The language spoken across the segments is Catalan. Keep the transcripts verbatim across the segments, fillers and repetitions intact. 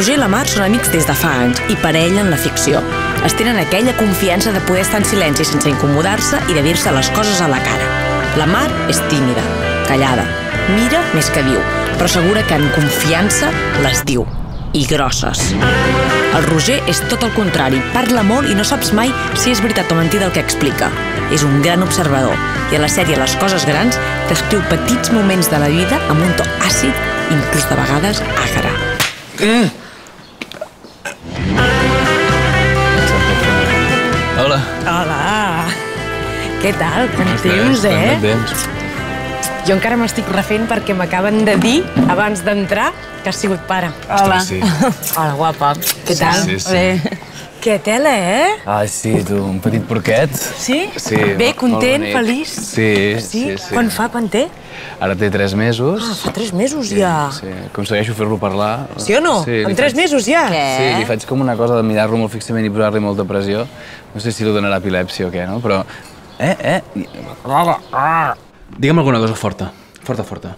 Roger i la Mar són amics des de fa anys i parella en la ficció. Es tenen aquella confiança de poder estar en silenci sense incomodar-se i de dir-se les coses a la cara. La Mar és tímida, callada, mira més que diu, però segura que en confiança les diu. I grosses. El Roger és tot el contrari, parla molt i no saps mai si és veritat o mentida el que explica. És un gran observador i a la sèrie Les coses grans descriu petits moments de la vida amb un to àcid, inclús de vegades àgara. Mm. Hola. Hola. Què tal? Quant temps, eh? Jo encara m'estic refent perquè m'acaben de dir, abans d'entrar, que has sigut pare. Hola. Sí. Hola, guapa. Què tal? Sí, sí. Bé. Que tela, eh? Ai, sí, tu, un petit porquet. Sí? Sí. Bé, content, feliç? Sí, sí, sí. Quan fa, quan té? Ara té tres mesos. Ah, fa tres mesos ja. Sí, aconsegueixo fer-lo parlar. Sí o no? En tres mesos ja? Sí, li faig com una cosa de mirar-lo molt fixament i posar-li molta pressió. No sé si li donarà epilèpsia o què, no? Però... Eh, eh... Digue'm alguna cosa forta. Forta, forta.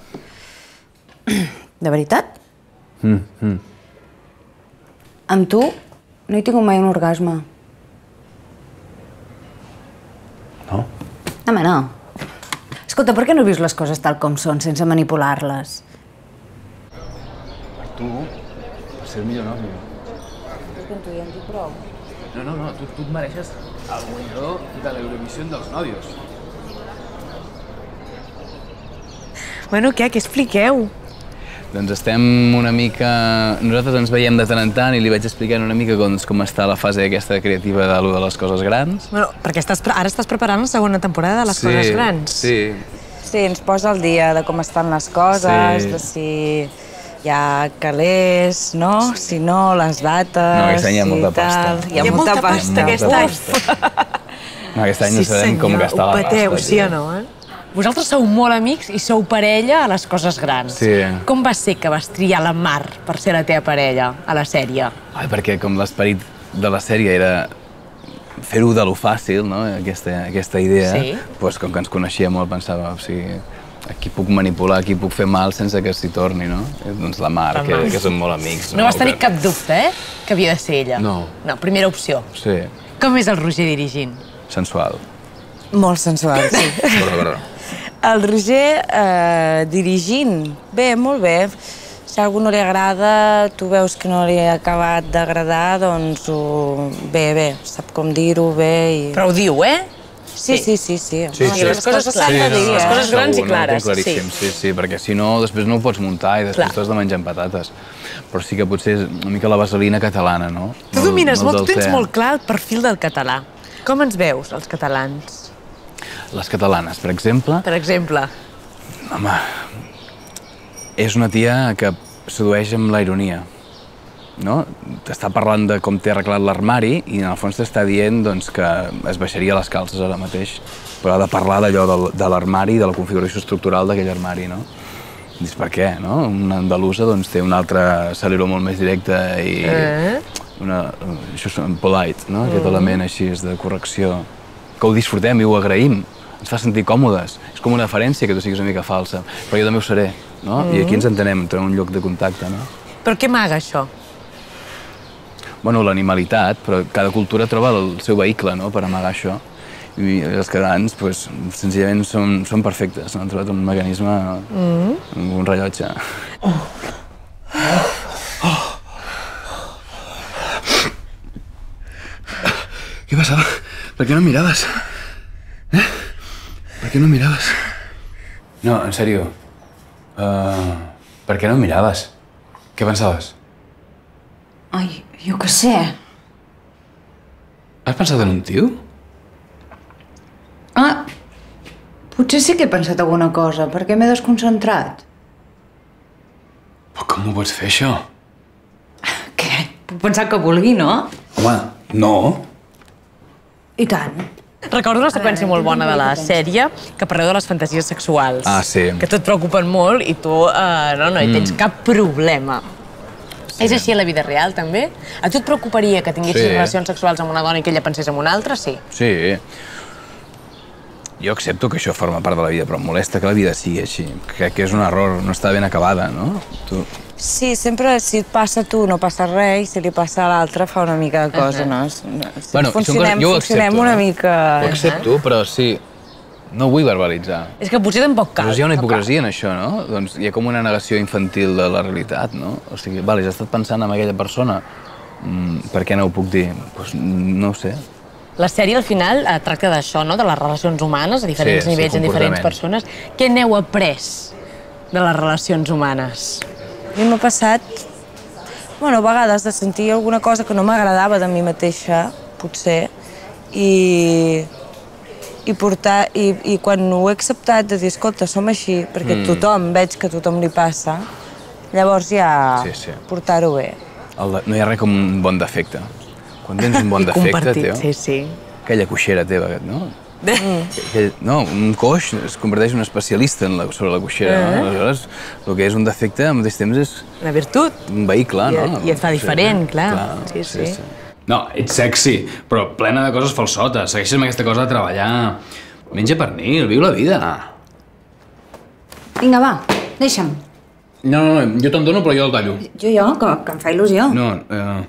De veritat? Mm, mm. Amb tu no he tingut mai un orgasme. No? Home, no. Escolta, per què no vius les coses tal com són, sense manipular-les? Per tu, per ser el millor nòvio. És que amb tu ja en dic prou. No, no, no, tu, tu et mereixes el guanyador de l'Eurovisió dels nòvios. Bueno, què? Què expliqueu? Doncs estem una mica... Nosaltres ens veiem de tant en tant i li vaig explicant una mica com, com està la fase aquesta creativa de lo de les coses grans. Bueno, perquè estàs, ara estàs preparant la segona temporada de les sí, coses grans. Sí, Sí, ens posa al dia de com estan les coses, Sí. de si hi ha calés, no? Si no, les dates... No, aquest any hi ha si molta pasta. tal. Hi ha molta pasta aquest any. no, aquest any no sabem com gastar la pasta. Ho peteu, sí o no, eh? Vosaltres sou molt amics i sou parella a les coses grans. Sí. Com va ser que vas triar la Mar per ser la teva parella a la sèrie? Ai, perquè com l'esperit de la sèrie era fer-ho de lo fàcil, no? Aquesta, aquesta idea, Sí. doncs, com que ens coneixia molt, pensava, o sigui, aquí puc manipular, aquí puc fer mal sense que s'hi torni, no? Doncs la Mar, La que, Mar. que som molt amics. No vas tenir Que- cap dubte, eh? Que havia de ser ella. No. No, primera opció. Sí, Com és el Roger dirigint? sensual. Molt sensual, sí. Però, però. El Roger eh, dirigint, bé, molt bé. Si a algú no li agrada, tu veus que no li ha acabat d'agradar, doncs ho... bé, bé, sap com dir-ho bé i... Però ho diu, eh? Sí, sí, sí, sí. Sí, sí. Les coses s'han de clares, dir, les eh? coses grans i Segur, no, ho clares, tinc claríssim, sí, sí, perquè si no, després no ho pots muntar i després Clar. t'has de menjar amb patates. Però sí que potser és una mica la vaselina catalana, no? Tu domines molt, tu del tens te. molt clar el perfil del català. Com ens veus, els catalans? Les catalanes, per exemple, Per exemple, home, és una tia que sedueix amb la ironia, no? T'està parlant de com té arreglat l'armari i en el fons t'està dient doncs, que es baixaria les calces ara mateix, però ha de parlar d'allò del- de l'armari i de la configuració estructural d'aquell armari, no? Dius, per què, no? Una andalusa doncs, té un altre aceleró molt més directe i Eh? una, això és un polite, no? Aquest element així de correcció, que ho disfrutem i ho agraïm, ens fa sentir còmodes. És com una deferència que tu siguis una mica falsa, però jo també ho seré, no? I aquí ens entenem, entrem en un lloc de contacte, no? però què amaga això? Bueno, l'animalitat, però cada cultura troba el seu vehicle, no?, per amagar això. I els catalans, doncs, senzillament són, són perfectes, han trobat un mecanisme, un rellotge. Què passava? Per què no em miraves? Eh? Per què no em miraves? No, en sèrio. Uh, per què no em miraves? Què pensaves? Ai, jo què sé. Has pensat en un tio? Ah, potser sí que he pensat alguna cosa, perquè m'he desconcentrat. Però com ho pots fer, això? Què? Puc pensar que vulgui, no? Home, no. I tant. Recordo una seqüència molt bona de la sèrie que parleu de les fantasies sexuals. Ah, sí. Que a tu et preocupen molt i tu eh, no, no hi tens cap problema. És així a la vida real, també? A tu et preocuparia que tinguessis Sí. relacions sexuals amb una dona i que ella pensés en una altra? Sí. Sí. Jo accepto que això forma part de la vida, però em molesta que la vida sigui així. Crec que és un error, no està ben acabada, no? Tu, Sí, sempre si et passa a tu no passa res i si li passa a l'altre fa una mica de cosa, no? Bueno, funcionem, jo ho funcionem accepto, una no? mica... Ho accepto, però sí, no vull verbalitzar. És que potser tampoc cal. Però hi ha una hipocresia en això, no? Doncs hi ha com una negació infantil de la realitat, no? O sigui, vale, has estat pensant en aquella persona, mm, per què no ho puc dir? Doncs no ho sé. La sèrie, al final, eh, tracta d'això, no? De les relacions humanes, a diferents Sí, sí, nivells, en diferents comportaments. persones. Què n'heu après de les relacions humanes? A mi m'ha passat, bueno, a vegades de sentir alguna cosa que no m'agradava de mi mateixa, potser, i, i portar, i, i quan ho he acceptat de dir, escolta, som així, perquè Mm. tothom, veig que a tothom li passa, llavors ja Sí, sí. portar-ho bé. El de, no hi ha res com un bon defecte. Quan tens un bon I defecte, compartit, tio, sí, sí. aquella coixera teva, no? Aquell, no, un coix es converteix en un especialista en la, sobre la coixera, no? Aleshores, el que és un defecte, al mateix temps, és Una virtut. un vehicle, I, no? I et fa diferent, clar. Sí, sí. No, ets sexy, però plena de coses falsotes. Segueixes amb aquesta cosa de treballar. Menja pernil, viu la vida. Vinga, va, deixa'm. No, no, no, jo te'n dono, però jo el tallo. Jo, jo, que, que em fa il·lusió. No, eh...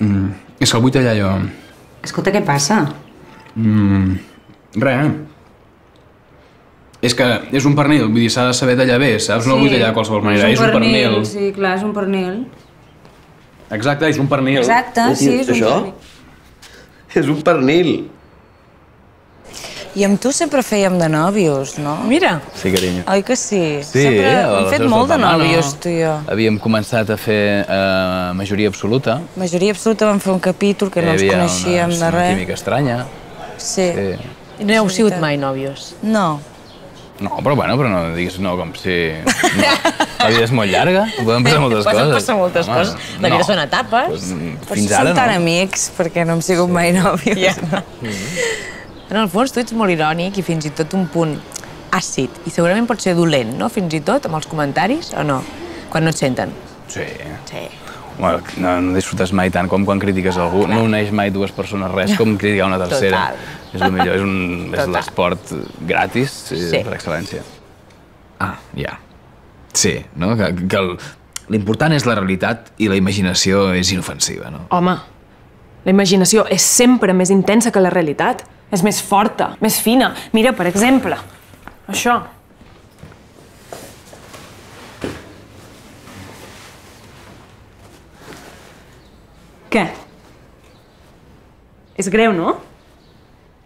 Mm, és que el vull tallar jo. Escolta, què passa? Mm, res. És que és un pernil, vull dir, s'ha de saber tallar bé, saps? No el vull tallar de qualsevol manera, és un pernil. Sí, clar, és un pernil. Exacte, és un pernil. Exacte, sí, és un Això? pernil. És un pernil. I amb tu sempre fèiem de nòvios, no? Mira. Sí, carinyo. Oi que sí? Sí, sempre a hem les fet Heus molt de del Tamano. nòvios, tu i jo. Havíem començat a fer eh, majoria absoluta. Majoria absoluta vam fer un capítol que no ens Hi havia coneixíem una, de una res. química estranya. Sí. Sí. I no heu sigut mai nòvios? No. No, però bueno, però no diguis no com si... No. La vida és molt llarga, poden passar moltes Poden coses. passar moltes Home, coses. La vida són etapes. Pues, mm, Però fins si ara som tan no. amics, perquè no hem sigut mai nòvios. Ja. En el fons, tu ets molt irònic i fins i tot un punt àcid. I segurament pot ser dolent, no? Fins i tot, amb els comentaris, o no? Quan no et senten. Sí. Sí. Bueno, no, no disfrutes mai tant com quan critiques algú. No uneix mai dues persones res com criticar una tercera. Total. És el millor, és, un, és Total. l'esport gratis sí. Sí. per excel·lència. Ah, ja. Sí, no? Que, que el- l'important és la realitat i la imaginació és inofensiva, no? Home, la imaginació és sempre més intensa que la realitat. És més forta, més fina. Mira, per exemple, això. Què? És greu, no?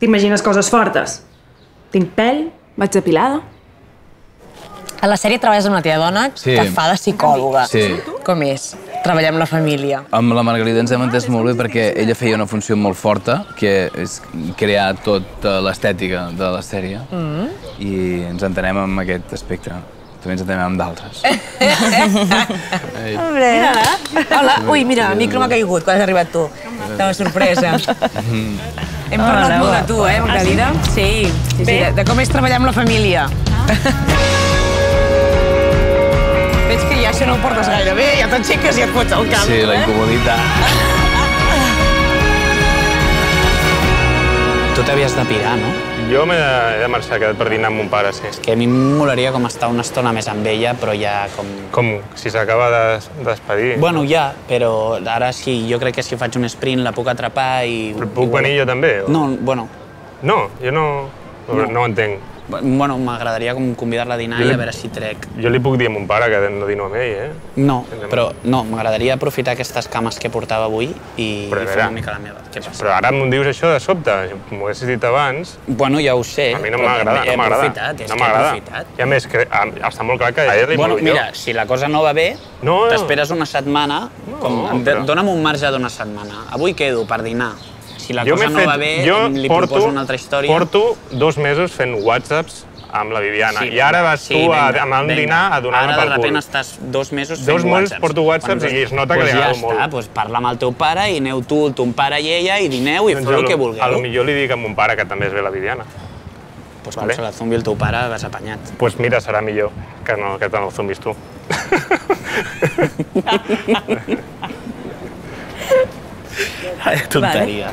T'imagines coses fortes. Tinc pèl, vaig depilada. A la sèrie treballes amb una tia dona Sí. que fa de psicòloga. Sí. Com és? Treballar amb la família. Amb la Margarida ens hem entès molt bé perquè ella feia una funció molt forta, que és crear tota l'estètica de la sèrie, mm. i ens entenem amb aquest aspecte. També ens entenem amb d'altres. Mira, hola. Ui, mira, el micro m'ha caigut quan has arribat tu. De sorpresa. Hem parlat Hola, molt hola. de tu, eh, Margalida? Sí, sí, sí, de, de com és treballar amb la família. Veig que ja això no ho portes gaire bé, ja t'aixeques i et fots al cap. Sí, la incomoditat. Tu t'havies de pirar, no? Jo m'he de, he de marxar, he quedat per dinar amb mon pare, sí. Que a mi em molaria com estar una estona més amb ella, però ja com... Com si s'acaba de, de despedir. Bueno, ja, però ara sí, jo crec que si faig un sprint la puc atrapar i... Però puc venir jo també? O... No, bueno, No, jo no, no, No. no ho entenc. bueno m'agradaria com convidar-la a dinar Jo i li- a veure si trec. Jo li puc dir a mon pare que no dino amb ell, eh? No, però no, m'agradaria aprofitar aquestes cames que portava avui i, Però a i fer veure, una mica la meva. Què passa? Però ara m'ho dius això de sobte, si m'ho haguessis dit abans... Bueno, ja ho sé. A mi no però m'agrada, també no he m'agrada. aprofitat, és No que he m'agrada. aprofitat. I a més, que a, està molt clar que a ella li Bueno, molo mira, jo. si la cosa no va bé, No, no. t'esperes una setmana, com, No, de- però- dona'm un marge d'una setmana. Avui quedo per dinar. Si la Jo cosa m'he no fet- va bé, jo li porto, proposo una altra història. Porto dos mesos fent whatsapps amb la Viviana. Sí, I ara vas sí, tu a, vinga, amb un vinga. dinar a donar-me Ara, per de cul. repente, estàs dos mesos fent Dos mesos whatsapps. porto whatsapps i es nota que pues li agrado ja molt. Està, doncs parla amb el teu pare i aneu tu, ton pare i ella, i dineu i Doncs feu a el lo- que vulgueu. A lo millor li dic a mon pare que també es ve la Viviana. Pues com vale. se la zumbi el teu pare, vas apanyat. Doncs pues mira, serà millor que, no, que te no zumbis tu. Tonteria.